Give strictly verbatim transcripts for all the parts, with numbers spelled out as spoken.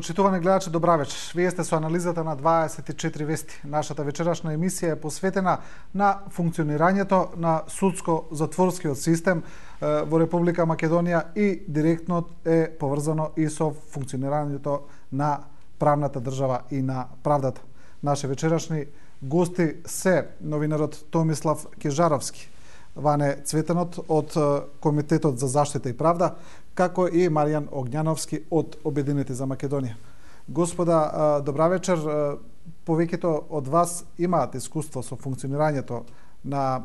Почитувани гледачи, добра вечер. Вие сте со анализата на дваесет и четири вести. Нашата вечерашна емисија е посветена на функционирањето на судско-затворскиот систем во Република Македонија и директно е поврзано и со функционирањето на правната држава и на правдата. Наши вечерашни гости се новинарот Томислав Кежаровски, Ване Цветанот од Комитетот за заштита и правда, како и Маријан Огњановски од Обединети за Македонија. Господа, добра вечер. Повеќето од вас имаат искуство со функционирањето на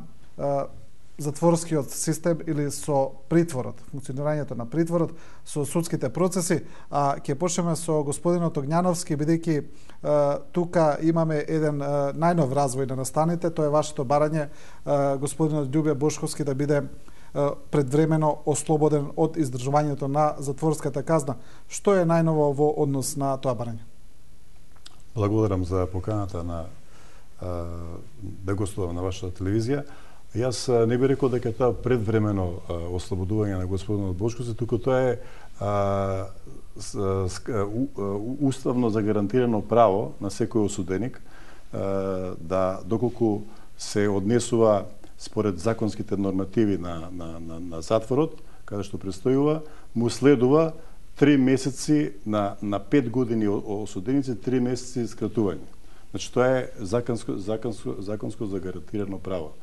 затворскиот систем или со притворот, функционирањето на притворот, со судските процеси. А ќе почнеме со господинот Огњановски, бидејќи тука имаме еден најнов развој на настаните. Тоа е вашето барање господинот Љубе Бошковски да биде предвремено ослободен од издржувањето на затворската казна. Што е најново во однос на тоа барање? Благодарам за поканата на да гостувам на вашата телевизија. Јас не би рекол дека тоа предвремено ослободување на господинот Бошковски, туку тоа е а, с, с, у, уставно загарантирано право на секој осуденик а, да доколку се однесува според законските нормативи на, на, на, на затворот, каде што престојува, му следува три месеци на, на пет години осуденици, три месеци скратување. Значи, тоа е законско, законско, законско загарантирано право.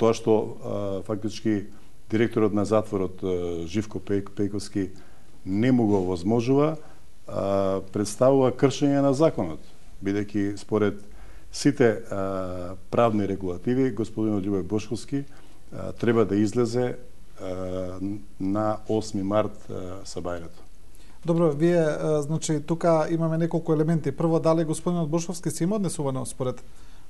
Тоа што а, фактички директорот на затворот а, Живко Пејковски не му го возможува, а, представува кршење на законот, бидејќи според сите а, правни регулативи господинот Љубе Бошковски а, треба да излезе а, на осми март а, са бајрето. Добро, вие, а, значи, тука имаме неколку елементи. Прво, дали господинот Бошковски се има однесувано според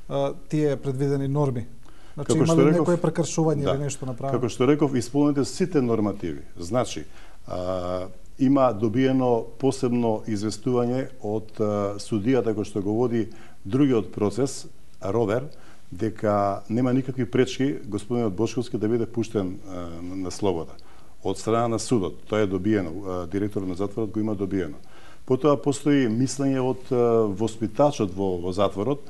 а, тие предвидени норми? Значи, има ли некое прекршување да, или нешто направено? Како што реков, исполнете сите нормативи. Значи, а, има добиено посебно известување од а, судијата кој што го води другиот процес, Ровер, дека нема никакви пречки господинот Бошковски да биде пуштен а, на слобода од страна на судот. Тоа е добиено, а, директорот на затворот го има добиено. Потоа постои мислење од а, воспитачот во, во затворот,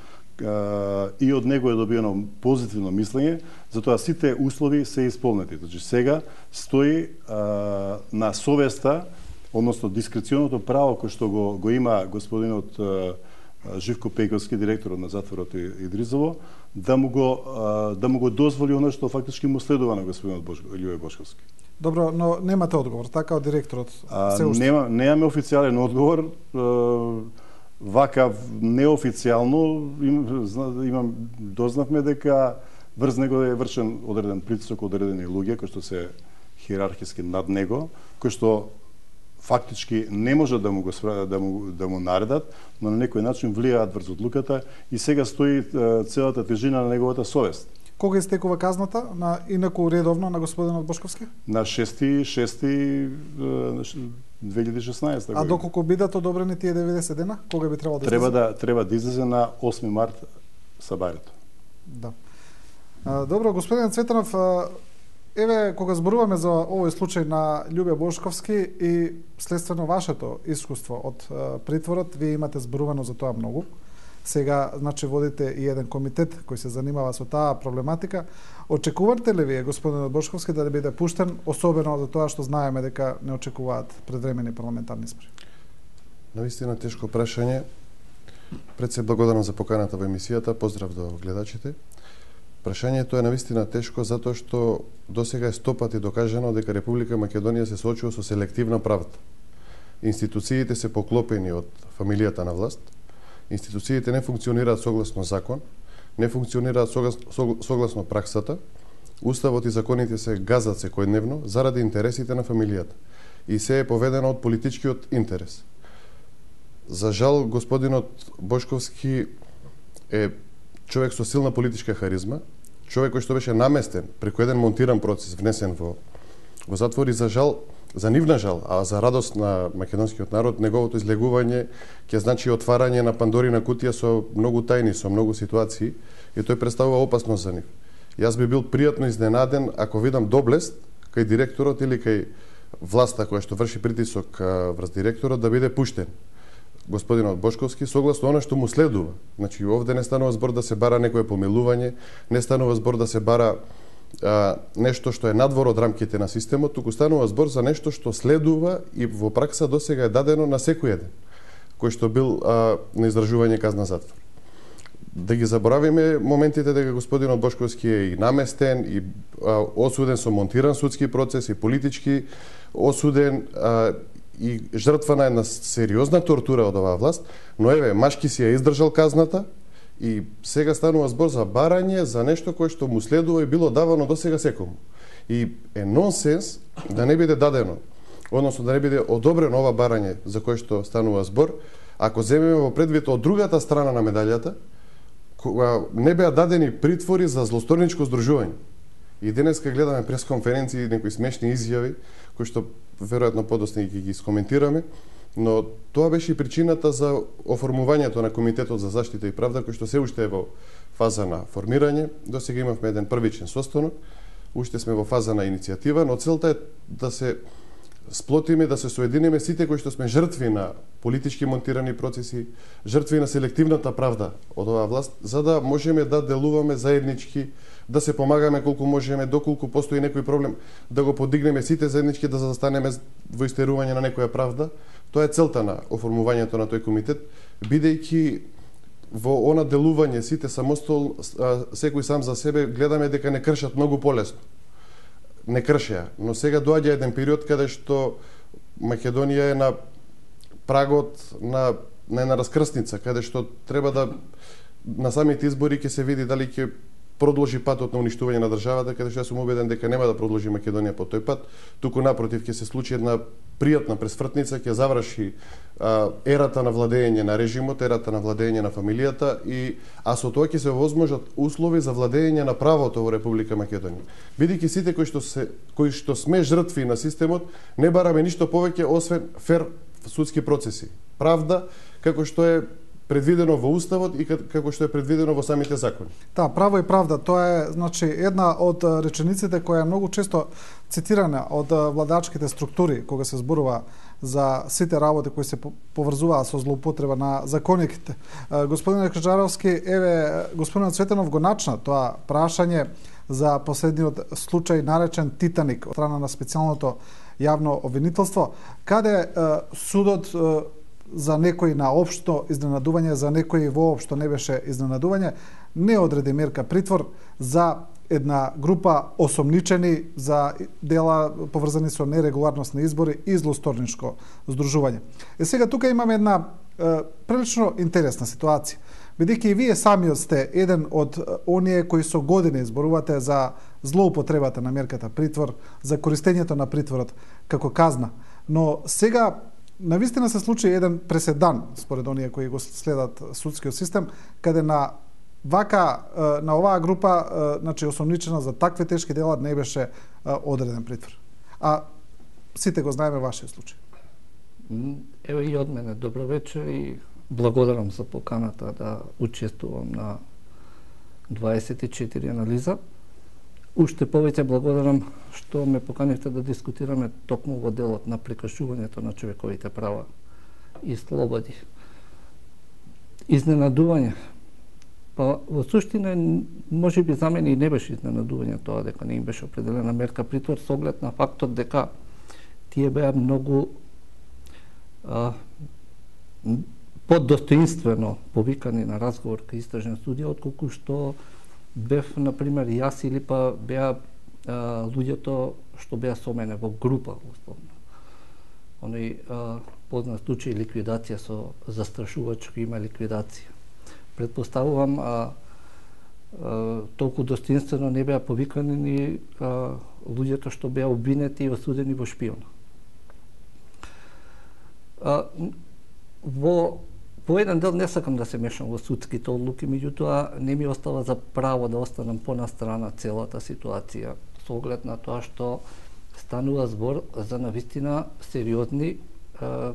и од него е добиено позитивно мислење, затоа сите услови се исполнети. Значи сега стои а, на совеста, односно дискреционото право кој што го, го има господинот а, Живко Пејковски, директорот на затворот Идризово, да му го а, да му го дозволи она што фактички му следува на господинот Бош, Љубе Бошковски. Добро, но немате одговор, така од директорот? А, нема, немаме официјален одговор. А, Вака неофицијално им, имам дознавме дека врз него е вршен одреден притисок од одредени луѓе кои што се хиерархиски над него, кои што фактички не може да му го да му да му наредат, но на некој начин влијаат врз одлуката и сега стои целата тежина на неговата совест. Кога истекува казната на инаку редовно на господинот Бошковски? На шести јуни две илјади и шеснаесета година. А доколку бидат одобрени тие деветдесет дена, кога би требало да треба излезе? да треба да излезе на осми март са бајрето. Да. А, добро, господин Цветанов, еве кога зборуваме за овој случај на Љубе Бошковски и следствено вашето искуство од притворот, вие имате зборувано за тоа многу. Сега, значи, водите и еден комитет кој се занимава со таа проблематика. Очекувате ли вие, господин Бошковски, да биде пуштен, особено за тоа што знаеме дека не очекуваат предвремени парламентарни избори? Навистина тешко прашање. Пред се благодарам за поканата во емисијата. Поздрав до гледачите. Прашањето е навистина тешко затоа што досега е сто пати докажано дека Република Македонија се соочува со селективна правда. Институциите се поклопени од фамилијата на власт. Институциите не функционираат согласно закон, не функционираат согласно праксата, уставот и законите се газат секојдневно заради интересите на фамилијата и се е поведено од политичкиот интерес. За жал, господинот Бошковски е човек со силна политичка харизма, човек кој што беше наместен преку еден монтиран процес, внесен во, во затвор и за жал, за нивна жал, а за радост на македонскиот народ, неговото излегување ќе значи отварање на Пандорина кутија со многу тајни, со многу ситуации и тој представува опасност за нив. Јас би бил пријатно изненаден ако видам доблест кај директорот или кај власта која што врши притисок врз директорот да биде пуштен. господинот Бошковски согласно она што му следува. Значи овде не станува збор да се бара некое помилување, не станува збор да се бара а, нешто што е надвор од рамките на системот, туку станува збор за нешто што следува и во пракса досега е дадено на секој еден кој што бил а, на издржување казна затвор. Да ги заборавиме моментите дека господинот Бошковски е и наместен, и а, осуден со монтиран судски процес, и политички осуден, а, и жртва на една сериозна тортура од оваа власт, но еве, машки си ја издржал казната и сега станува збор за барање за нешто кое што му следува и било давано досега секому. И е нонсенс да не биде дадено, односно да не биде одобрено ова барање за кое што станува збор, ако земеме во предвид од другата страна на медалјата, кога не беа дадени притвори за злосторничко здружување. И денеска гледаме пресконференции, некои смешни изјави, кои што веројатно подоцна ги ги скоментираме, но тоа беше и причината за оформувањето на Комитетот за заштита и правда, кој што се уште е во фаза на формирање. Досега имавме еден првичен состанок, уште сме во фаза на иницијатива, но целта е да се сплотиме, да се соединиме сите кои што сме жртви на политички монтирани процеси, жртви на селективната правда од оваа власт, за да можеме да делуваме заеднички, да се помагаме колку можеме, доколку постои некој проблем, да го подигнеме сите заеднички, да застанеме во истерување на некоја правда. Тоа е целта на оформувањето на тој комитет, бидејќи во она делување сите самостол, секој сам за себе, гледаме дека не кршат многу полесно. Не кршеа, но сега доаѓа еден период каде што Македонија е на прагот на, на една раскрсница, каде што треба да на самите избори ќе се види дали ќе продолжи патот на уништување на државата, каде што јас сум убеден дека нема да продолжи Македонија по тој пат, туку напротив ќе се случи една пријатна пресвртница, ќе заврши а, ерата на владење на режимот, ерата на владење на фамилијата, и а со тоа ќе се возможат услови за владење на правото во Република Македонија. Бидејќи сите кои што се кои што сме жртви на системот, не бараме ништо повеќе освен фер судски процеси, правда, како што е предвидено во уставот и како што е предвидено во самите закони. Да, право и правда, тоа е значи една од речениците која е многу често цитирана од владачките структури кога се зборува за сите работи кои се поврзуваат со злоупотреба на законите. Господин Крчаровски, еве господин Цветанов го начна тоа прашање за последниот случај наречен Титаник од страна на специјалното јавно обвинителство, каде судот за некој на општо изненадување, за некој воопшто не беше изненадување, не одреди мерка притвор за една група осомничени за дела поврзани со нерегуларност на избори и злосторничко здружување. Е сега тука имаме една е, прилично интересна ситуација. Бидејќи и вие самиот сте еден од оние кои со години зборувате за злоупотребата на мерката притвор, за користењето на притворот како казна. Но сега навистина се случи еден преседан, според оние кои го следат судскиот систем, каде на вака, на оваа група, значи осомничена за такви тешки дела, не беше одреден притвор. А сите го знаеме вашиот случај. Ево и од мене добро вечер и благодарам за поканата да учествувам на дваесет и четири анализа. Уште повеќе благодарам што ме поканивте да дискутираме токму во делот на прекршувањето на човековите права и слободи. Изненадување. Па во суштина може би за мене и не беше изненадување тоа дека не им беше определена мерка притвор со оглед на фактот дека тие беа многу а, подостоинствено повикани на разговор кај истражен судија, отколку што бев, например, јас или па беа а, луѓето што беа со мене во група, условно. Оној а, познат случај ликвидација со застрашувачко има ликвидација. Предпоставувам, а, а, толку достоинствено не беа повикани ни а, луѓето што беа обвинети и осудени во шпиона. А, во По еден дел не сакам да се мешам во судските одлуки, меѓутоа не ми остава за право да останам понастрана целата ситуација, со оглед на тоа што станува збор за навистина сериозни е,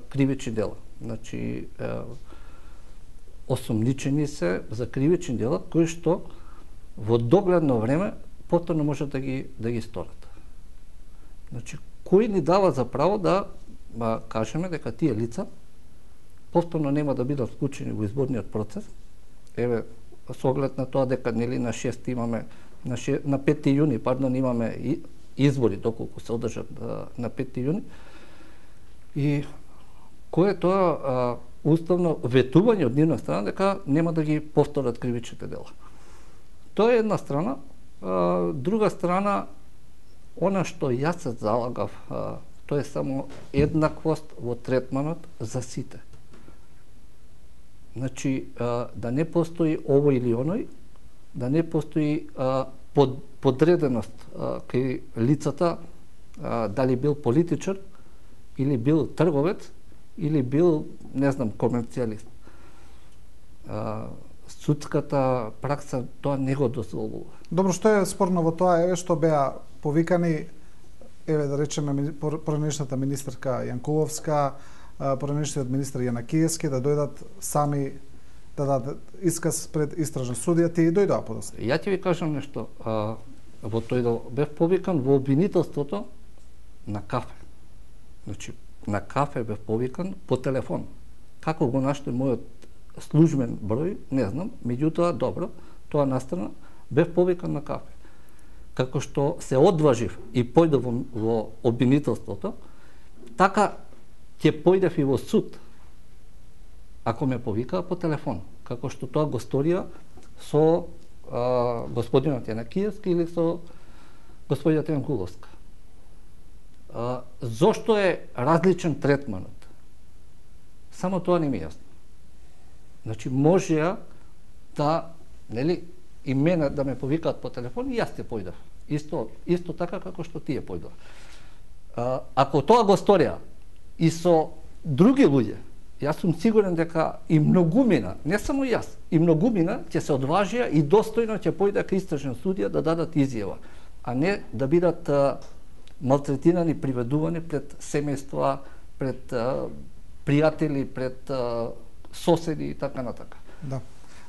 кривични дела. Значи, е, осомничени се за кривични дела кои што во догледно време повторно можат да ги да ги сторат. Значи, кој ни дава за право да ба, кажеме дека тие лица повторно нема да бидат вклучени во изборниот процес. Еве, со оглед на тоа дека нели на шести имаме на, ше, на пети јуни, пардон, имаме и, избори доколку се одржат на пети јуни. И кој е тоа а, уставно ветување од нивна страна дека нема да ги повторат кривичните дела. Тоа е една страна. А, друга страна, она што јас се залагав, а, тоа е само еднаквост во третманот за сите. Значи, а, да не постои овој или оној, да не постои а, под, подреденост а, кај лицата, а, дали бил политичар, или бил трговец, или бил, не знам, комерцијалист. А, судската пракса тоа не го дозволува. Добро, што е спорно во тоа, еве што беа повикани, еве да речеме, поранешната министерка Јанкуловска, поранешниот министер Јанакиевски да дојдат сами да дадат исказ пред истражна судија, тие дојдоа подоцна. Ја ќе ви кажам нешто. А, во тој дел бев повикан во обвинителството на кафе. Значи, на кафе бев повикан по телефон. Како го наште мојот службен број, не знам, меѓутоа, добро, тоа настрана, бев повикан на кафе. Како што се одважив и појдов во, во обвинителството, така ќе појдев и во суд, ако ме повикаа по телефон, како што тоа го сторија со а, господинот Јанакиевски или со господината Јанкуловска. А, зошто е различен третманот? Само тоа не ми е јасно. Значи, можеа да, нели, и мене да ме повикаат по телефон и јас те појдав. Исто, исто така како што тие појдов. А, ако тоа го сторија и со други луѓе, јас сум сигурен дека и многумина, не само јас, и многумина ќе се одважија и достојно ќе појде кај истражен судија да дадат изјава, а не да бидат а, малтретирани, приведувани пред семејства, пред а, пријатели, пред а, соседи и така натака. Да.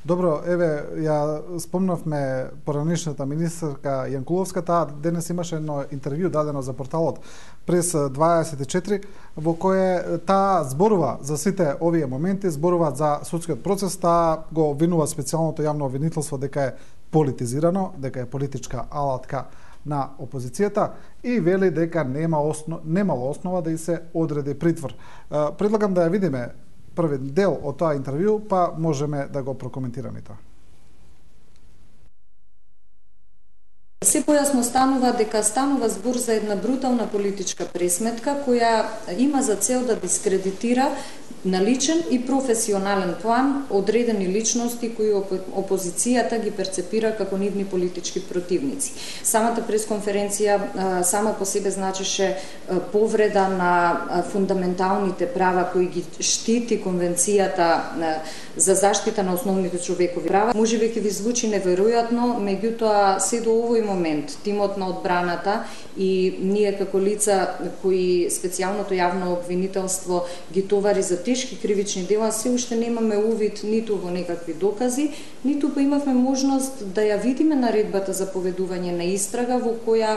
Добро, еве, ја спомнавме поранешната министерка Јанкуловска, таа денес имаше едно интервју дадено за порталот Прес дваесет и четири, во кое таа зборува за сите овие моменти, зборува за судскиот процес, таа го обвинува специјалното јавно обвинителство дека е политизирано, дека е политичка алатка на опозицијата и вели дека нема основ, немало основа да и се одреди притвор. Предлагам да ја видиме први дел од тоа интервју, па можеме да го прокоментираме тоа. Се појасно станува дека станува збор за една брутална политичка пресметка која има за цел да дискредитира на личен и професионален план одредени личности кои опозицијата ги перцепира како нивни политички противници. Самата пресконференција сама по себе значеше повреда на фундаменталните права кои ги штити Конвенцијата за заштита на основните човекови права. Можеби ќе ви звучи неверојатно, меѓутоа се до овој момент тимот на одбраната и ние како лица кои специјалното јавно обвинителство ги товари за тешки кривични дела, се уште немаме увид ниту во некакви докази, ниту па имавме можност да ја видиме наредбата за поведување на истрага во која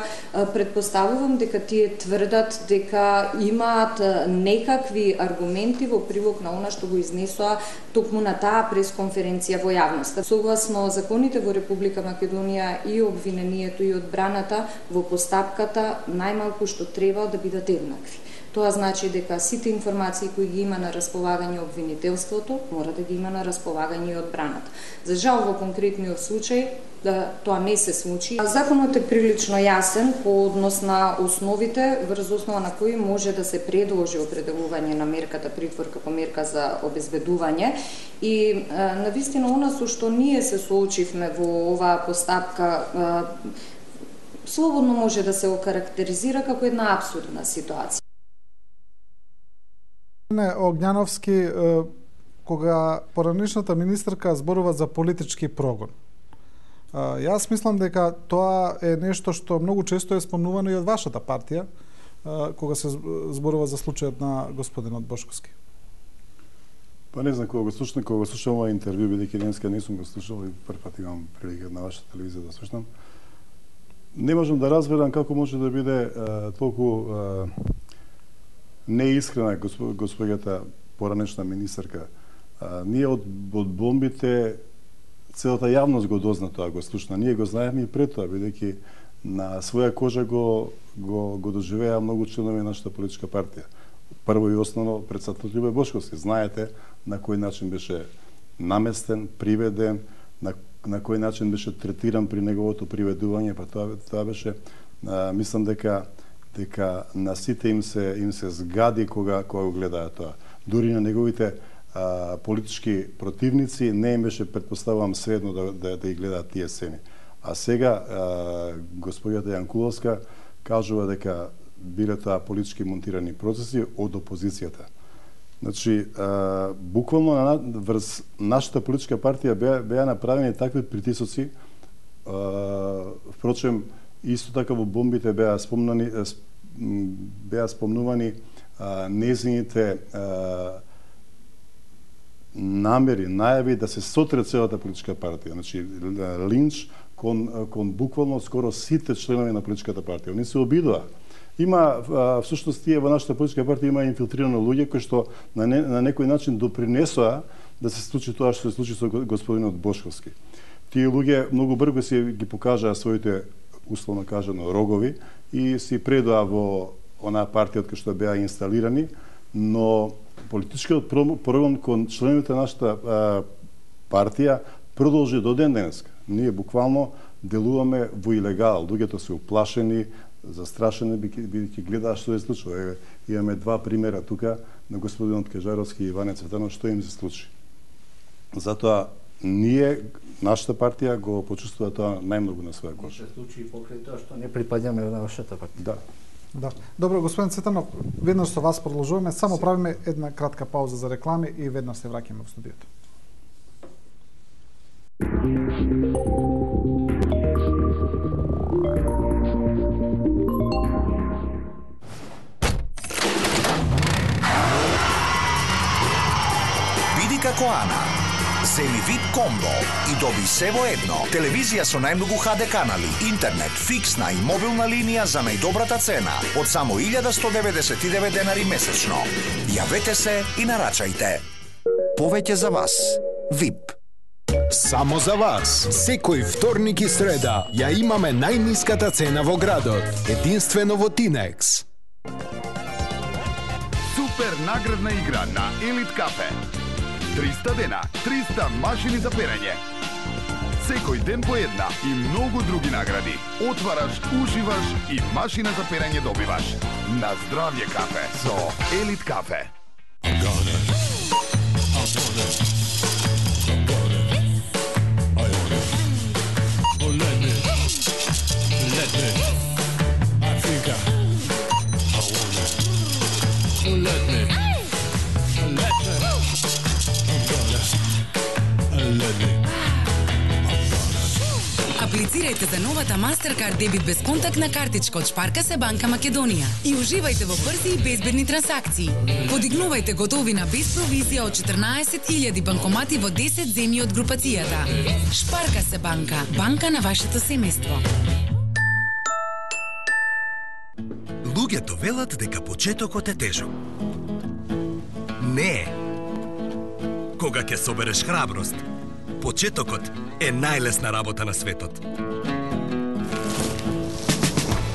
предпоставувам дека тие тврдат дека имаат некакви аргументи во прилог на она што го изнесоа токму на таа пресконференција во јавноста. Согласно законите во Република Македонија и обвинението и одбраната во постапката најмалку што треба да бидат еднакви. Тоа значи дека сите информации кои ги има на располагање обвинителството мора да ги има на располагање и одбраната. За жал во конкретниот случај да тоа не се случи. Законот е прилично јасен по однос на основите врз основа на кои може да се предложи определување на мерката притвор како мерка за обезбедување и навистина она со што ние се соочивме во оваа постапка слободно може да се окарактеризира како една апсурдна ситуација. Огњановски, кога поранешната министерка зборува за политички прогон. Јас мислам дека тоа е нешто што многу често е спомнувано и од вашата партија, кога се зборува за случајот на господинот Бошковски. Па не знам, кога го слушам, кога го слушам ова интервју, бидејќи денеска не сум го слушал и прв пат имам прилика на вашата телевизија да слушам, не можам да разберам како може да биде толку неискрена госпоѓата поранешна министерка, а, ние од, од бомбите целата јавност го дозна тоа, го слушна. Ние го знаеме и пред тоа, бидејќи на своја кожа го, го, го доживеа многу членови на нашата политичка партија. Прво и основно председател Љубе Бошковски. Знаете на кој начин беше наместен, приведен, на, на кој начин беше третиран при неговото приведување, па тоа, тоа беше, а, мислам дека дека на сите им се им се згади кога кога го гледаа тоа. Дури на неговите а, политички противници не им беше, претпоставувам, сведно да, да, да ги гледаат тие сцени. А сега а, господјата Јанкуловска кажува дека биле тоа политички монтирани процеси од опозицијата. Значи, а, буквално на, врз нашата политичка партија беа, беа направени такви притисоци. А, впрочем, исто така во бомбите беа спомнани, беа спомнувани а, незините а, намери, најави да се сотре целата политичка партија. Значи, линч кон, кон буквално скоро сите членови на политичката партија. Они се обидоа. Има, всушност, тие во нашата политичка партија има инфилтрирано луѓе кои што на, не, на некој начин допринесоа да се случи тоа што се случи со господинот Бошковски. Тие луѓе многу брзо си ги покажаа своите, условно кажано, рогови и си предоа во онаа партија од која што беа инсталирани, но политичкиот прогон кон членовите на нашата а, партија продолжи до ден денеска. Ние буквално делуваме во илегал. Луѓето се уплашени, застрашени, бидејќи гледаат што се случува. Еве, имаме два примера тука на господинот Кежаровски и Иване Цветанов што им се случи. Затоа ние, нашата партија, го почувствува тоа најмногу на своја кожа. Се случи и покрај тоа што не припаѓаме на вашата партија. Да. Да. Добро, господин Цветанов, веднаш со вас продолжуваме, само правиме една кратка пауза за реклами и веднаш се враќаме во студиото. Биди како Ана. Земи вип комбо и доби се во едно. Телевизија со најмногу ха де канали, интернет, фиксна и мобилна линија за најдобрата цена од само илјада сто деветдесет и девет денари месечно. Јавете се и нарачајте. Повеќе за вас. вип. Само за вас. Секој вторник и среда ја имаме најниската цена во градот. Единствено во Тинекс. Супер наградна игра на Елит Кафе. триста дена, триста машини за перење. Секој ден по една и многу други награди. Отвараш, уживаш и машина за перење добиваш. На здравје кафе со Елит Кафе. Аплицирајте за новата Mastercard дебит безконтактна картичка од Шпарка се банка Македонија и уживајте во брзи и безбедни трансакции. Подигнувајте готовина без провизија од четрнаесет илјади банкомати во десет земји од групацијата. Шпарка се банка, банка на вашето семејство. Луѓето велат дека почетокот е тежок. Не е. Кога ќе собереш храброст, почетокот е најлесна работа на светот.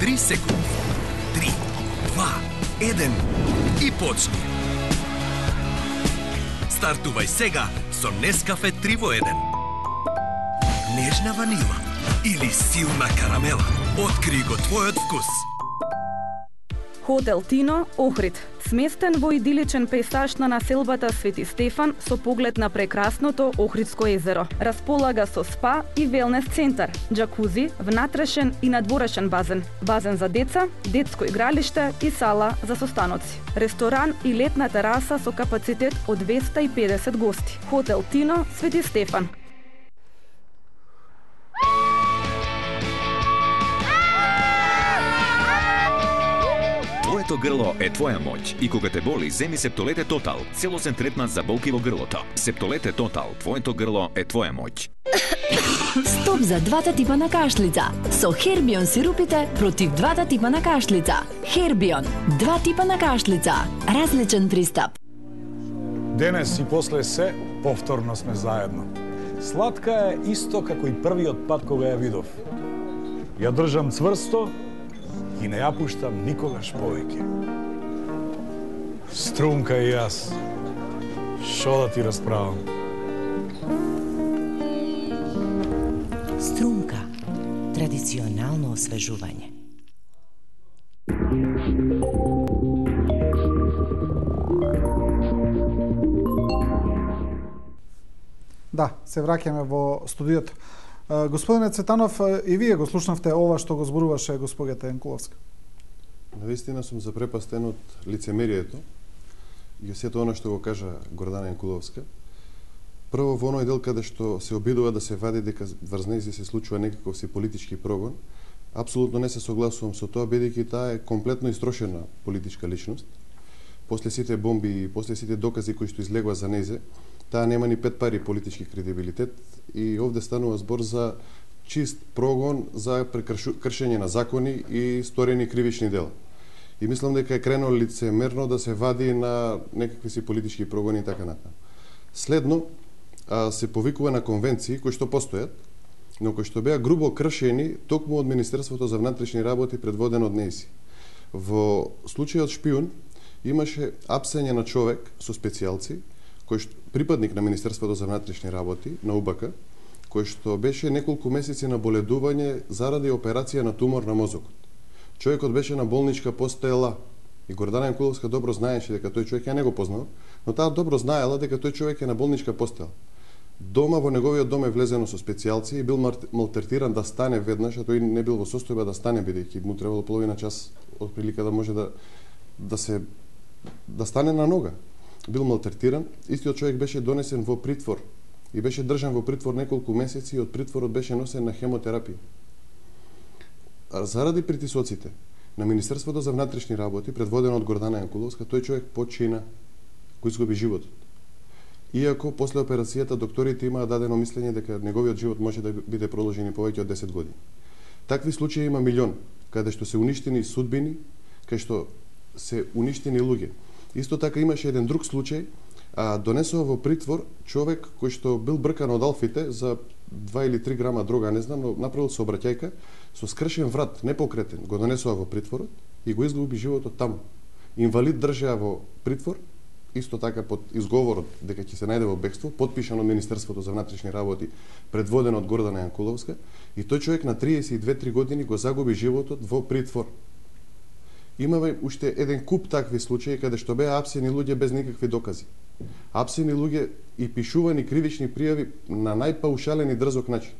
Три секунди. Три, два, еден и почни. Стартувај сега со Нескафе три во еден. Нежна ванила или силна карамела. Откри го твојот вкус. Хотел Тино, Охрид, сместен во идиличен пейсаж на населбата Свети Стефан со поглед на прекрасното Охридско езеро. Располага со спа и велнес центар, џакузи, внатрешен и надворешен базен, базен за деца, детско игралиште и сала за состаноци. Ресторан и летна тераса со капацитет од двеста и педесет гости. Хотел Тино, Свети Стефан. Твоето грло е твоја моќ и кога те боли, земи Септолете Тотал, целосен третман за болки во грлото. Септолете Тотал, твоето грло е твоја моќ. Стоп за двата типа на кашлица. Со Хербион сирупите против двата типа на кашлица. Хербион, два типа на кашлица. Различен пристап. Денес и после се, повторно сме заедно. Сладка е исто како и првиот пат кога ја видов. Ја држам цврсто и не ја пуштам никогаш повеќе. Струмка и јас, шо да ти расправам? Струмка, традиционално освежување. Да, се враќаме во студиото. Господине Цветанов, и вие го слушнавте ова што го зборуваше госпогата Јанкуловска. Навистина сум запрепастен од лицемерието и сето она што го кажа Гордана Јанкуловска. Прво во оној дел каде што се обидува да се вади дека врз нејзи се случува некаков си политички прогон, апсолутно не се согласувам со тоа, бидејќи таа е комплетно истрошена политичка личност. После сите бомби и после сите докази кои што излегува за нејзе, таа нема ни пет пари политички кредибилитет и овде станува збор за чист прогон за кршење на закони и сторени кривични дела. И мислам дека е крайно лицемерно да се вади на некакви си политички прогони и така натаму. Следно, а, се повикува на конвенции кои што постојат, но кои што беа грубо кршени токму од Министерството за внатрешни работи предводено од НЕИСИ. Во случајот Шпиун имаше апсење на човек со специјалци, кој што припадник на Министерството за внатрешни работи, на УБК, кој што беше неколку месеци на боледување заради операција на тумор на мозокот. Човекот беше на болничка постела и Гордана Јанкуловска добро знаеше дека тој човек, ја не го познава, но таа добро знаела дека тој човек е на болничка постела. Дома во неговиот дом е влезено со специјалци и бил малтретиран да стане веднаш, а тој не бил во состојба да стане, бидејќи му требало половина час од прилика да може да да се да стане на нога. Бил малтретиран, истиот човек беше донесен во притвор и беше држан во притвор неколку месеци и од притворот беше носен на хемотерапија. Заради притисоците на Министерството за внатрешни работи, предводено од Гордана Јанкуловска, тој човек почина, кој изгуби животот. Иако после операцијата докторите имаа дадено мислење дека неговиот живот може да биде продолжен повеќе од десет години. Такви случаи има милион, каде што се уништени судбини, каде што се уништени луѓе. Исто така имаше еден друг случај, а, донесува во притвор човек кој што бил бркан од Алфите за два или три грама дрога, не знам, но направил сообраќајка со скршен врат, непокретен, го донесува во притворот и го изгуби животот таму. Инвалид држеа во притвор, исто така под изговорот дека ќе се најде во бегство, потпишан од Министерството за внатрешни работи, предводено од Гордана Јанкуловска, и тој човек на триесет и две три години го загуби животот во притвор. Имаме уште еден куп такви случаи каде што беа апсени луѓе без никакви докази. Апсени луѓе и пишувани кривични пријави на најпаушален и дрзок начин,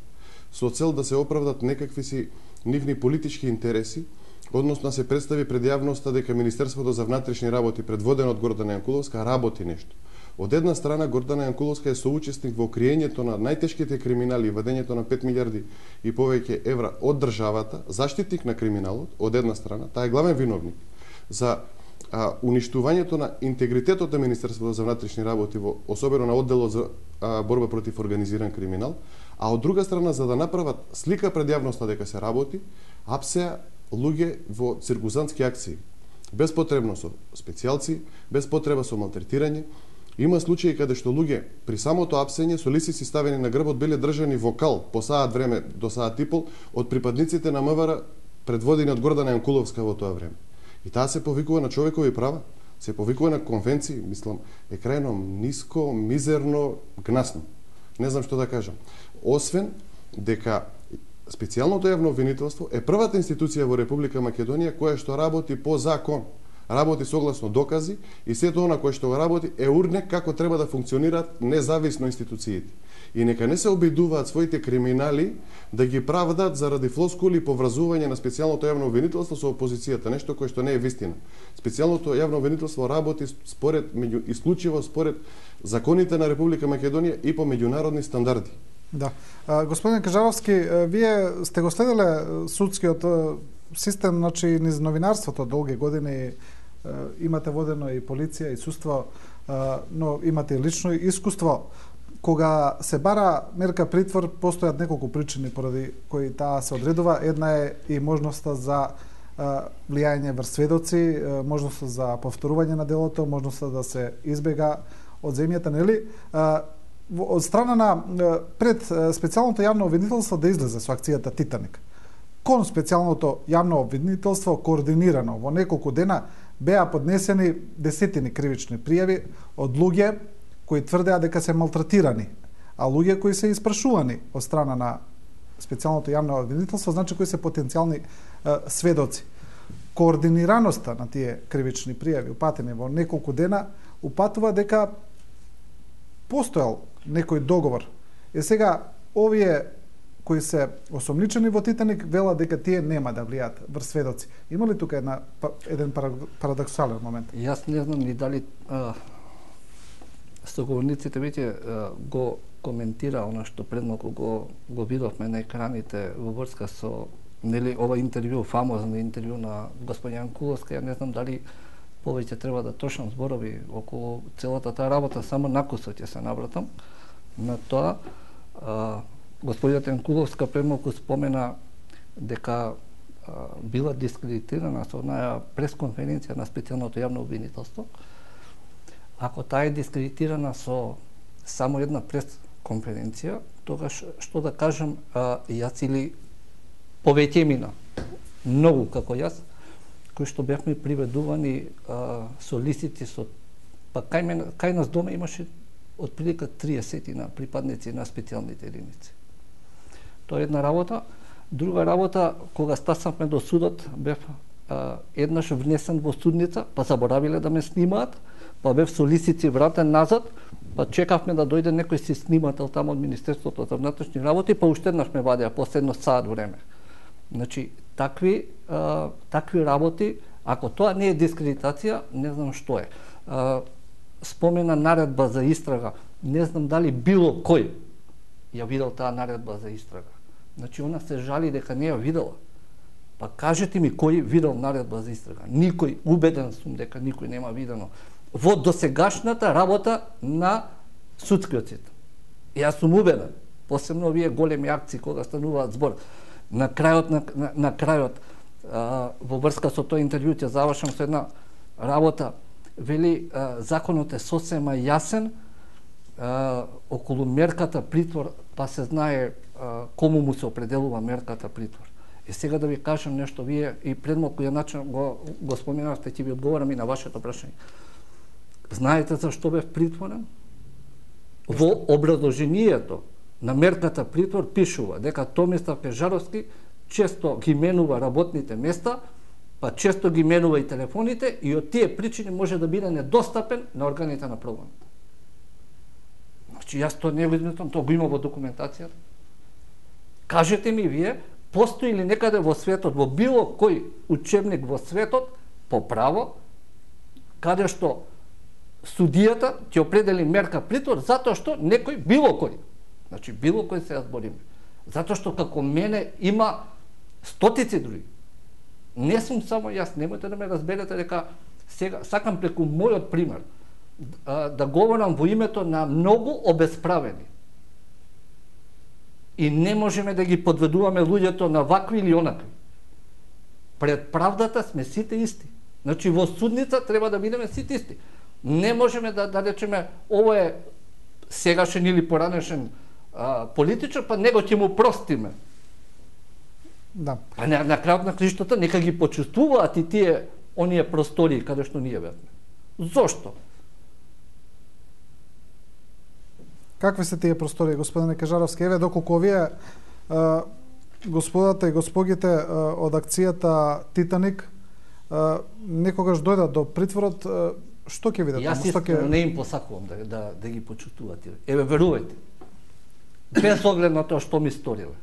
со цел да се оправдат некакви си нивни политички интереси, односно се представи пред јавноста дека Министерството за внатрешни работи, предводено од Гордана Јанкуловска, работи нешто. Од една страна, Гордана Јанкуловска е соучесник во криењето на најтешките криминали и вадењето на пет милиарди и повеќе евра од државата, заштитник на криминалот, од една страна, таа е главен виновник за а, уништувањето на интегритетот на Министерството за внатрешни работи, во, особено на одделот за а, борба против организиран криминал, а од друга страна, за да направат слика пред јавноста дека се работи, апсеа луѓе во циркузантски акции, без потребно со специјалци, без потреба со малтретирање. Има случаи каде што луѓе при самото апсење со лисици ставени на грбот биле држани во кал по саат време до саат и пол од припадниците на МВР, предводени од Гордана Јанкуловска во тоа време. И таа се повикува на човекови права, се повикува на конвенции, мислам, е крајно ниско, мизерно, гнасно. Не знам што да кажам. Освен дека специјалното јавно обвинителство е првата институција во Република Македонија која што работи по закон, работи согласно докази и сето она кое што го работи е урнек како треба да функционираат независно институциите. И нека не се обидуваат своите криминали да ги правдат заради флоскули и поврзување на специјалното јавно обвинителство со опозицијата, нешто кое што не е вистина. Специјалното јавно обвинителство работи според меѓу исклучиво според законите на Република Македонија и по меѓународни стандарди. Да. А, господин Кажаровски, вие сте го следеле судскиот систем, значи, низ новинарството долги години, имате водено и полиција и судство, но имате и лично искуство. Кога се бара мерка притвор, постојат неколку причини поради кои таа се одредува. Една е и можноста за влијање врз сведоци, можноста за повторување на делото, можноста да се избега од земјата, нели? Од страна на пред специјалното јавно обвинителство да излезе со акцијата Титаник. Кон специјалното јавно обвинителство координирано во неколку дена беа поднесени десетини кривични пријави од луѓе кои тврдеа дека се малтретирани, а луѓе кои се испрашувани од страна на специјалното јавно обвинителство, значи кои се потенцијални е, сведоци. Координираноста на тие кривични пријави упатени во неколку дена упатува дека постојал некој договор. Е сега овие кои се осомничени во Титаник велат дека тие нема да влијат врз сведоци. Има ли тука една еден парадоксален момент? Јас не знам ни дали а, соговорниците веќе го коментира она што пред малку го го видовме на екраните во врска со нели ова интервју, фамозно интервју на господин Јанкуловска. Ја не знам дали повеќе треба да трошам зборови околу целата таа работа, само накусот ќе се навратам на тоа. А, господинот Јанкуловска премалку спомена дека а, била дискредитирана со онаја пресконференција на специјалното јавно обвинителство. Ако таа е дискредитирана со само една пресконференција, тогаш што да кажам, а, јас или повеќе мина, многу како јас, кои што бевме приведувани а, со лисици, со па кај, мен, кај нас дома имаше отприлика триесет на припадници на специјалните единици. Тоа е една работа. Друга работа, кога стаснавме до судот, бев а, еднаш внесен во судница, па заборавиле да ме снимаат, па бев со лисици вратен назад, па чекавме да дојде некој си снимател таму од Министерството за внатрешни работи, па уште еднаш ме вадеа после едно саат време. Значи, такви, а, такви работи, ако тоа не е дискредитација, не знам што е. А, спомена наредба за истрага, не знам дали било кој ја видел таа наредба за истрага. Значи, она се жали дека не ја видела. Па кажете ми кој видел наредба за истрага. Никој, убеден сум дека никој нема видено во досегашната работа на судскиот систем. Јас сум убеден, посебно овие големи акции кога стануваат збор. На крајот на, на, на крајот а, во врска со тој интервју ќе завршам со една работа. Вели а, законот е сосема јасен а, околу мерката притвор, па се знае а, кому му се определува мерката притвор. И сега да ви кажам нешто, вие и пред малку ја начин го, го споменавте, ќе ви одговорам и на вашето прашање. Знаете зашто бев притворен? Во образложението на мерката притвор пишува дека Томислав Кежаровски често ги менува работните места, па често ги менува и телефоните и од тие причини може да биде недостапен на органите на прогонот. Значи, јас тоа не го измислам, тоа го има во документацијата. Кажете ми вие, постои ли некаде во светот, во било кој учебник во светот, по право, каде што судијата ќе определи мерка притвор затоа што некој, било кој, значи било кој се збориме, затоа што како мене има стотици други. Не сум само јас, немојте да ме разберете дека сега сакам преку мојот пример да, да говорам во името на многу обесправени. И не можеме да ги подведуваме луѓето на вакви или онакви. Пред правдата сме сите исти. Значи во судница треба да бидеме сите исти. Не можеме да, да речеме ово е сегашен или поранешен а, политичар, па него ќе му простиме. Да. А на, на крајот на криштата нека ги почувствуваат и тие оние простории каде што ние бевме. Зошто? Какви се тие простории, господине Кежаровски? Еве доколку овие а, господата и госпогите а, од акцијата Титаник а, некогаш дојдат до притворот, а, што ќе видат? Јас искрено не им посакувам да, да, да ги почувствуват. Еве, верувајте. Без оглед на тоа што ми сториле.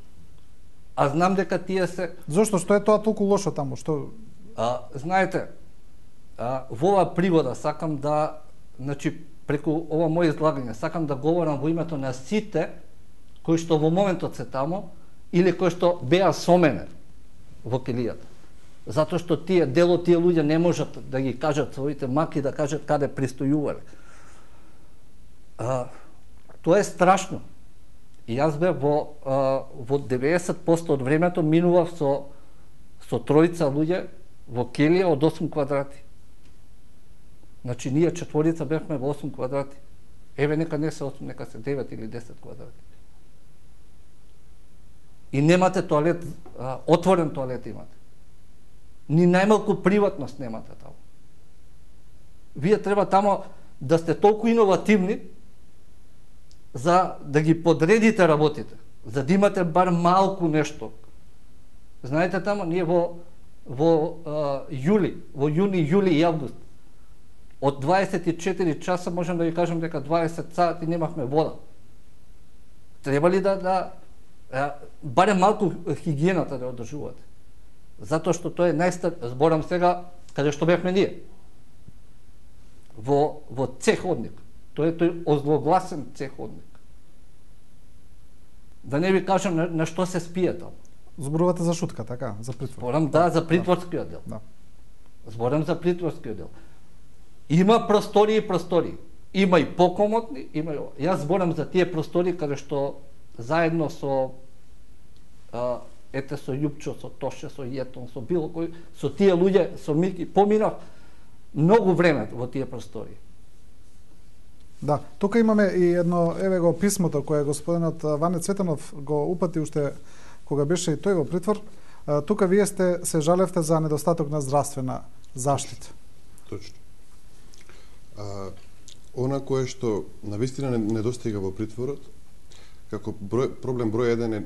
А знам дека тие се... Зошто? Што е тоа толку лошо таму? Што... А, знаете, а, во оваа пригода сакам да, значи, преку ова моје излагање, сакам да говорам во името на сите кои што во моментот се таму или кои што беа со мене во келијата. Затоа што тие, дел од тие луѓе не можат да ги кажат своите маки, да кажат каде пристојувале. А, тоа е страшно. И јас бе во, а, во деветдесет проценти од времето минував со, со тројца луѓе во келија од осум квадрати. Значи, ние четворица бевме во осум квадрати. Еве нека не се осум, нека се девет или десет квадрати. И немате тоалет, а, отворен тоалет имате. Ни најмалку приватност немате таму. Вие треба тамо да сте толку иновативни за да ги подредите работите, за да имате бар малку нешто. Знаете тамо, ние во во а, јули, во јуни, јули и август, од дваесет и четири часа можам да ви кажам дека дваесет сати немавме вода. Треба ли да, да а, барем малку хигиената да одржувате? Затоа што тоа е најстар, зборам сега каде што бевме ние. Во во цеходник. Тоа е тој озлогласен цеходник. Да не ви кажам на, на што се спие таму. Зборувате за шутка, така, за притвор. Зборам да за притворскиот дел. Да. Зборам за притворскиот дел. Има простори и простори. Има и покомотни, има и... Јас зборам за тие простори каде што заедно со а, ете со Јупчо, со Тоше, со Јетон, со било кој, со тие луѓе, со Мики, поминав многу време во тие простори. Да, тука имаме и едно, еве го писмото кое господинот Ване Цветанов го упати уште кога беше и тој во притвор. Тука вие сте се жалевте за недостаток на здравствена заштита. Точно. А, она кое што навистина недостига во притворот, како број, проблем број еден е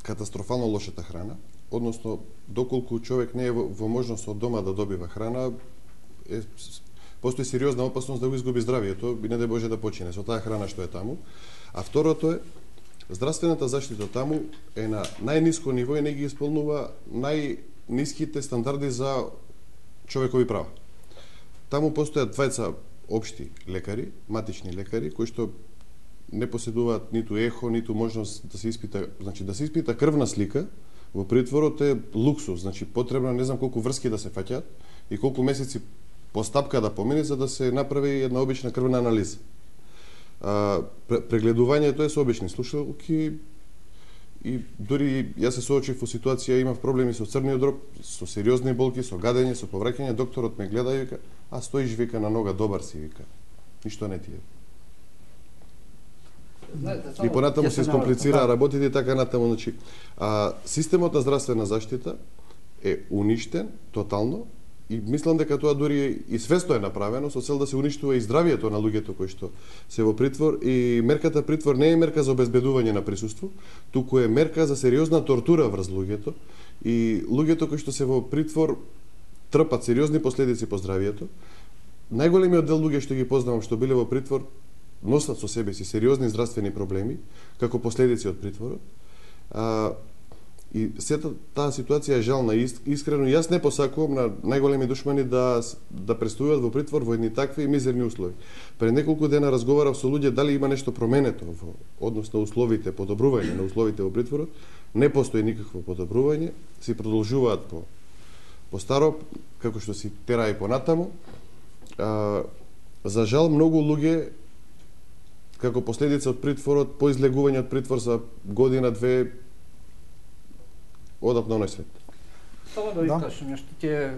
катастрофално лошата храна, односно доколку човек не е во, во можност од дома да добива храна, е, постои сериозна опасност да го изгуби здравието и не дај Боже да почине со таа храна што е таму. А второто е здравствената заштита таму е на најниско ниво и не ги исполнува најниските стандарди за човекови права. Таму постојат двајца општи лекари, матични лекари, кои што не поседуваат ниту ехо, ниту можност да се испита, значи да се испита крвна слика во притворот е луксус, значи потребно не знам колку врски да се фаќаат и колку месеци постапка да помине за да се направи една обична крвна анализа. А, прегледувањето е со обични слушалки и дури јас се соочив во ситуација, имав проблеми со црниот дроб, со сериозни болки, со гадење, со повраќање, докторот ме гледа и вика: "А стоиш вика на нога, добар си вика. Ништо не ти е." Знаете, и понатаму се искомплицираа работите и така натаму, значи, а, системот на здравствена заштита е уништен тотално и мислам дека тоа дури и свесно е направено со цел да се уништува и здравието на луѓето кои што се во притвор, и мерката притвор не е мерка за обезбедување на присуство, туку е мерка за сериозна тортура врз луѓето и луѓето кои што се во притвор трпат сериозни последици по здравието. Најголемиот дел луѓе што ги познавам што биле во притвор носат со себе си сериозни здравствени проблеми како последици од притворот. А, и сета таа ситуација е жална и искрено јас не посакувам на најголеми душмани да да престојуваат во притвор во едни такви мизерни услови. Пред неколку дена разговарав со луѓе дали има нешто променето во однос на условите, подобрување на условите во притворот. Не постои никакво подобрување, си продолжуваат по по старо како што си тера и понатаму. А, за жал многу луѓе како последица од притворот, по излегување од притвор за година, две, одат на оној свет. Само да ви да? кажам нешто, ќе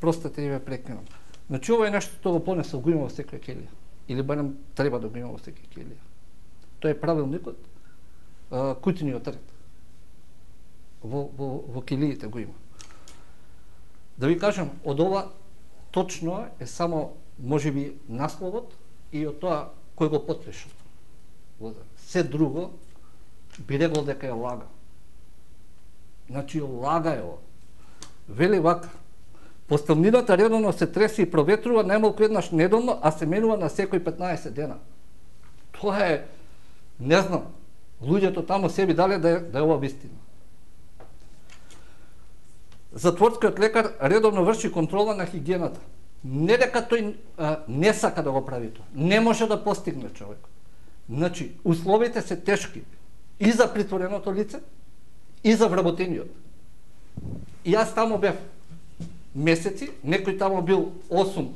простете и ве прекинам. Значи, ова е нешто што го понесо, го има во секоја келија. Или барем треба да го има во секоја келија. Тоа е правилникот, куќниот ред. Во, во, во келиите го има. Да ви кажам, од ова точно е само, можеби, насловот и од тоа кој го потпиша. Се друго би рекол дека е лага. Значи, лага е ова. Вели вака: поставнината редовно се треси и проветрува најмалку еднаш неделно, а се менува на секој петнаесет дена. Тоа е, не знам, луѓето таму себе дале да е, да е ова вистина. Затворскиот лекар редовно врши контрола на хигиената. Не дека тој а, не сака да го прави тоа. Не може да постигне човек. Значи, условите се тешки и за притвореното лице, и за вработениот. И јас таму бев месеци, некој таму бил осум,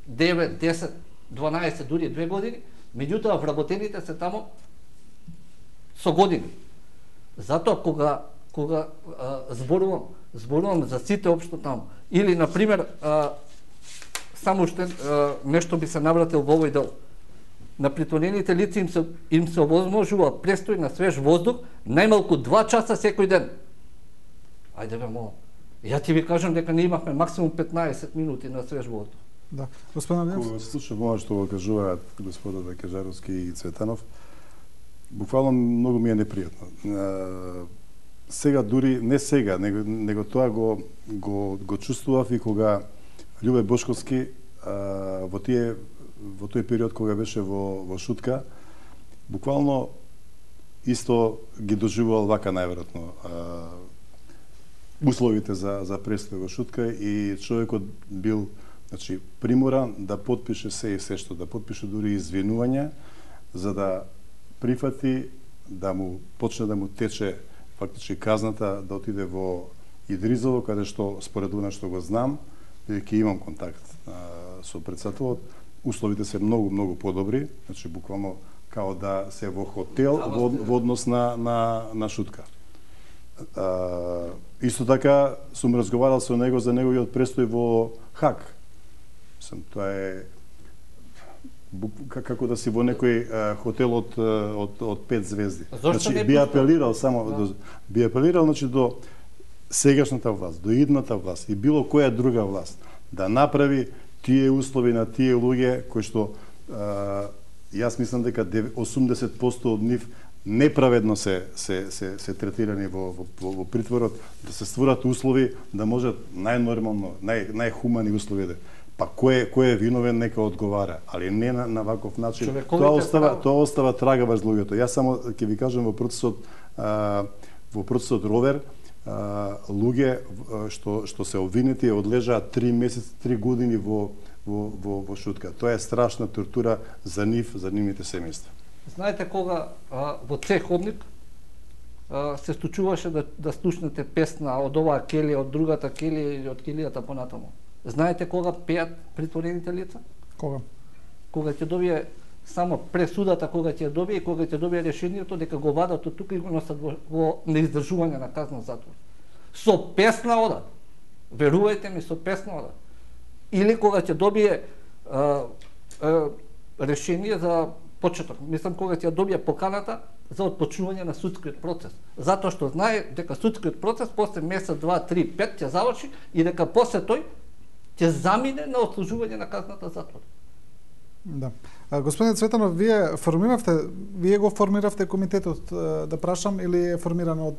девет, десет, дванаесет, дури две години, меѓутоа вработените се таму со години. Затоа кога кога а, зборувам, зборувам за сите општо таму. Или, например, а, само уште а, нешто би се навратил во овој дел. на притворените лица им се, им се овозможува престој на свеж воздух најмалку два часа секој ден. Ајде бе, молам. Ја ти ви кажам дека не имавме максимум петнаесет минути на свеж воздух. Да, господин Немц. Кога се слушам ова што го кажуваат господата Кажаровски и Цветанов, буквално многу ми е непријатно. Сега дури не сега, него, него тоа го го го чувствував и кога Љубе Бошковски а, во тие во тој период кога беше во во Шутка, буквално исто ги доживувал вака најверојатно условите за за престој во Шутка и човекот бил, значи, приморан да потпише се и се што, да потпише дури извинување за да прифати да му почне да му тече фактички казната да отиде во Идризово, каде што според она што го знам, бидејќи имам контакт а, со председателот, условите се многу многу подобри, значи буквално као да се во хотел во, во однос на на на Шутка. А, исто така сум разговарал со него за неговиот престој во Хаг. Сам тоа е како да си во некој а, хотел од, од, од пет звезди. Значи, би апелирал само, да. до, би апелирал значи, до сегашната власт, до идната власт и било која друга власт да направи тие услови на тие луѓе кои што а, јас мислам дека осумдесет проценти од нив неправедно се се се се третирани во во, во притворот, да се створат услови да можат најнормално, нај најхумани услови да. Па кој кој е виновен нека одговара, али не на, на ваков начин. Тоа остава прав... тоа остава трага врз луѓето. Јас само ќе ви кажам во процесот а, во процесот Ровер а, луѓе што што се обвинети одлежаат три месеци, три години во во во во Шутка. Тоа е страшна тортура за нив, за нивните семејства. Знаете кога а, во Цеховник а, се случуваше да да слушнете песна од оваа келија, од другата келија или од келијата понатаму. Знаете кога пеат притворените лица? Кога? Кога ќе добие само пресудата, кога ќе добие и кога ќе добие решението дека го вадат од тука и го носат во, во неиздржување на казна затвор. Со песна одат. Верувајте ми, со песна одат. Или кога ќе добие а, а, решение за почеток. Мислам кога ќе добие поканата за отпочнување на судскиот процес. Затоа што знае дека судскиот процес после месец, два, три, пет ќе заврши и дека после тој ќе замине на отслужување на казната затвор. Да. А, господин Цветанов, вие формиравте, вие го формиравте комитетот, да прашам, или е формиран од...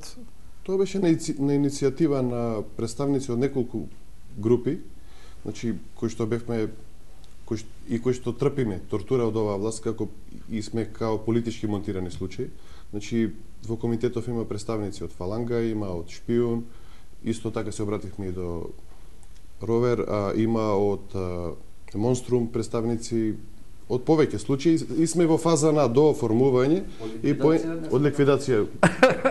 Тоа беше на, на иницијатива на представници од неколку групи, значи кои што бевме кои, и кои што трпиме тортура од оваа власт, како и сме као политички монтирани случаи. Значи во комитетов има представници од Фаланга, има од Шпион, исто така се обративме и до Ровер, а, има од а, Монструм представници од повеќе случаи и сме во фаза на дооформување и по, од ликвидација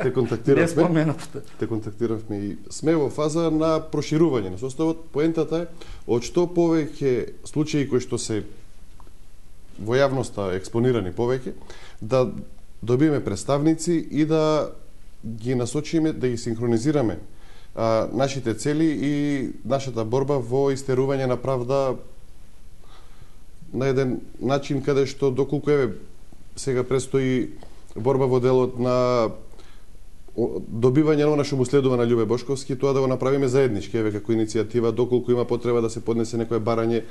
те контактиравме. Те контактиравме и сме во фаза на проширување на составот. Поентата е од што повеќе случаи кои што се во јавноста експонирани повеќе, да добиеме представници и да ги насочиме, да ги синхронизираме а, нашите цели и нашата борба во истерување на правда на еден начин каде што доколку еве сега престои борба во делот на добивање на она што му следува на Љубе Бошковски, тоа да го направиме заеднички, еве како иницијатива, доколку има потреба да се поднесе некое барање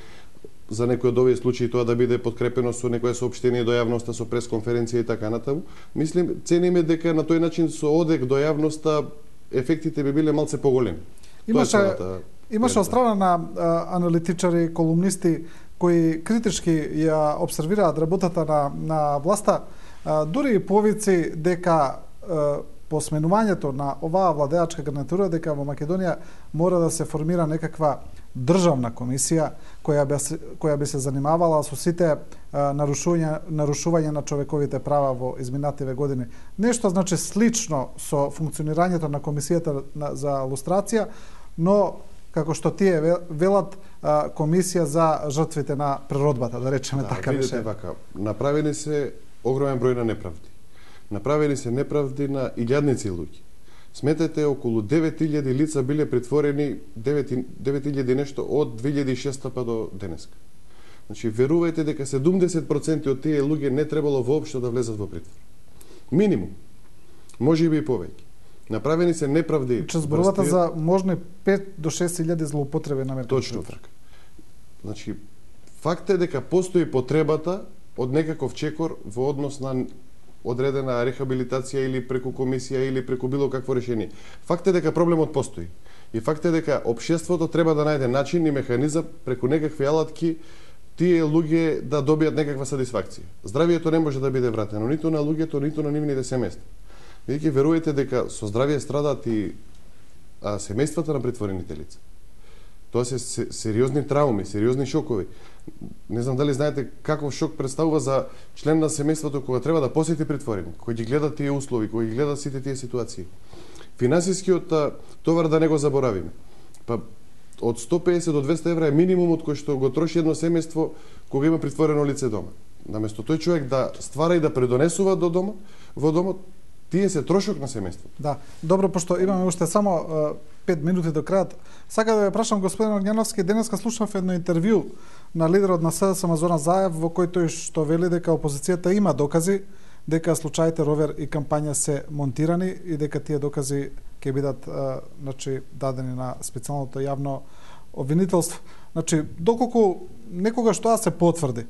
за некој од овие случаи, тоа да биде подкрепено со некое соопштение до јавноста, со пресконференција и така натаму. Мислим, цениме дека на тој начин со одек до јавноста ефектите би биле малце поголеми. Имаше имаше од страна на а, аналитичари, колумнисти кои критички ја обсервираат работата на на власта, а, дури и повици дека а, по сменувањето на оваа владеачка гарнитура дека во Македонија мора да се формира некаква државна комисија која би, која би се занимавала со сите а, нарушување нарушување на човековите права во изминативе години. Нешто значи слично со функционирањето на комисијата на, за лустрација, но како што тие велат комисија за жртвите на природбата, да речеме да, така видите вака, направени се огромен број на неправди. Направени се неправди на илјадници луѓе. Сметете, околу девет илјади лица биле притворени, девет илјади нешто од две илјади и шеста па до денеска. Значи, верувајте дека седумдесет проценти од тие луѓе не требало воопшто да влезат во притвор. Минимум. Може би и повеќе. Направени се неправди. Че зборувате за можни пет до шест илјади злоупотреби на мерки. Точно така. Значи, факт е дека постои потребата од некаков чекор во однос на одредена рехабилитација или преку комисија или преку било какво решение. Факт е дека проблемот постои. И факт е дека општеството треба да најде начин и механизам преку некакви алатки тие луѓе да добијат некаква сатисфакција. Здравието не може да биде вратено ниту на луѓето, ниту на нивните семејства. Бидејќи верувајте дека со здравие страдаат и а, семејствата на притворените лица. Тоа се сериозни трауми, сериозни шокови. Не знам дали знаете каков шок представува за член на семејството кога треба да посети притворени, кој ги гледа тие услови, кој ги гледа сите тие ситуации. Финансискиот товар да не го заборавиме. Па од сто песет до двесте евра е минимумот кој што го троши едно семејство кога има притворено лице дома. Наместо тој човек да ствара и да предонесува до дома, во домот, тие се трошок на семејство. Да, добро, пошто имаме уште само пет минути до крајот. Сака да ве прашам, господин Огњановски, денеска слушнав едно интервју на лидерот на СДСМ Зоран Заев, во кој тој што вели дека опозицијата има докази, дека случаите Ровер и кампања се монтирани и дека тие докази ќе бидат значи дадени на специјалното јавно обвинителство. Значи, доколку некогаш тоа се потврди,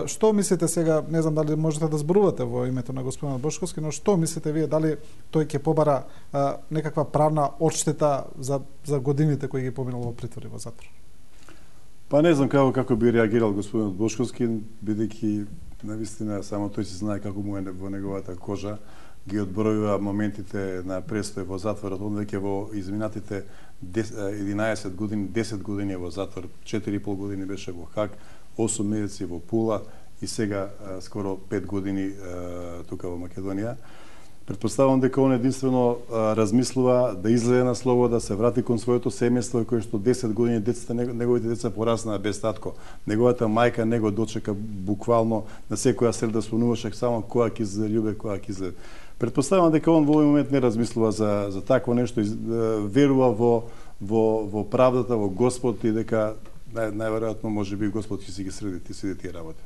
што мислите сега, не знам дали можете да зборувате во името на господинот Бошковски, но што мислите вие, дали тој ќе побара а, некаква правна одштета за, за годините кои ги поминал во притвор и во затвор? Па не знам како како би реагирал господинот Бошковски, бидејќи навистина само тој се знае како му е во неговата кожа, ги одбројува моментите на престој во затворот, он веќе во изминатите единаесет години, десет години во затвор, четири и пол години беше во Хаг, осум месеци во Пула и сега а, скоро пет години а, тука во Македонија. Предпоставувам дека он единствено а, размислува да излезе на слобода, да се врати кон своето семејство, кое што десет години децата, неговите деца пораснаа без татко. Неговата мајка него дочека буквално на секоја среда спомнуваше само која ќе се љубе, која ќе се. Предпоставувам дека он во овој момент не размислува за за такво нешто, верува во во во правдата, во Господ и дека нај, најверојатно може би Господ ќе си ги среди сите тие работи.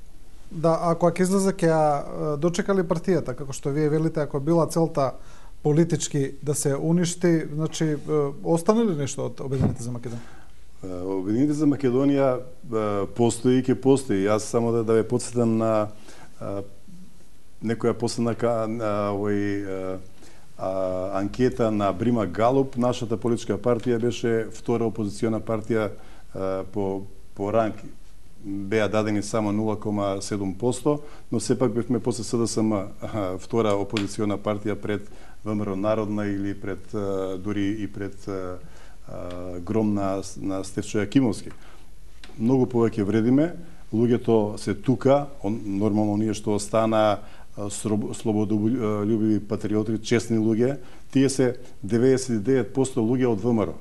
Да, ако ќе излезе ќе ја дочекали партијата, како што вие велите, ако била целта политички да се уништи, значи остане ли нешто од Обединените за Македонија? Обединените за Македонија постои и ќе постои. Јас само да, да ве потсетам на а, некоја последна овој анкета на Брима Галуп. Нашата политичка партија беше втора опозициона партија по по ранг, беа дадени само нула кома седум проценти, но сепак бевме после СДСМ втора опозициона партија пред ВМРО Народна или пред дури и пред Гром на, на Стефчо Јакимовски. Многу повеќе вредиме, луѓето се тука, он, нормално ние што остана слободолюбиви патриоти, честни луѓе, тие се деветдесет и девет проценти луѓе од ВМРО.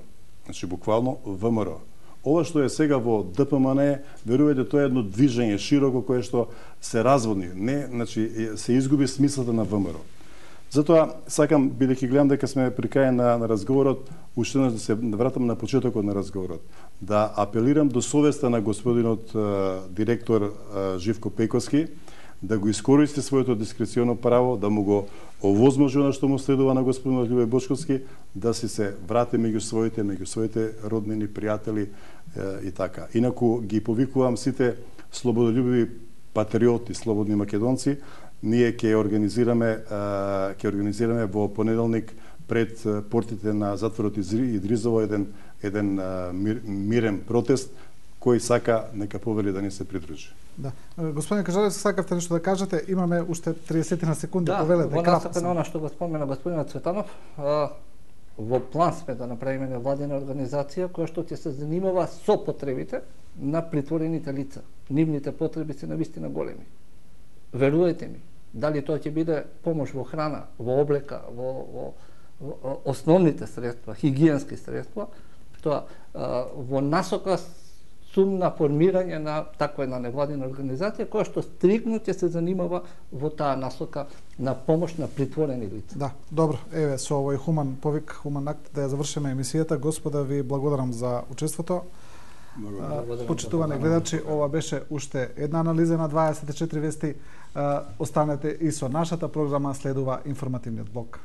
Значи буквално ВМРО. Ова што е сега во ДПМН, верувајте, тоа е едно движење широко кое што се разводни, не, значи се изгуби смислата на ВМРО. Затоа сакам, бидејќи гледам дека сме при крај на, на разговорот, уште еднаш да се вратам на почетокот на разговорот, да апелирам до совеста на господинот е, директор е, Живко Пејковски, да го искористи своето дискреционо право, да му го овозможи она што му следува на господинот Љубе Бошковски, да си се врати меѓу своите, меѓу своите роднини, пријатели е, и така. Инаку ги повикувам сите слободолюбиви патриоти, слободни македонци, ние ќе организираме ќе организираме во понеделник пред портите на затворот Идризово еден еден мир, мирен протест кој сака нека повели да не се придружи. Да. Господин Кажалевски, сакавте нешто да кажете? Имаме уште триесет на секунди, да, повелете кратко. Да, во насока на она што го спомена господинот Цветанов, а, во план сме да направиме невладина организација која што ќе се занимава со потребите на притворените лица. Нивните потреби се навистина големи. Верувајте ми, дали тоа ќе биде помош во храна, во облека, во, во, во основните средства, хигиенски средства, тоа а, во насока сум на формирање на таква една невладина организација која што стрикно ќе се занимава во таа насока на помош на притворени лица. Да, добро. Еве со овој хуман повик, хуман акт да ја завршиме емисијата. Господа, ви благодарам за учеството. Почитувани гледачи, ова беше уште една анализа на дваесет и четири вести. Останете и со нашата програма, следува информативниот блок.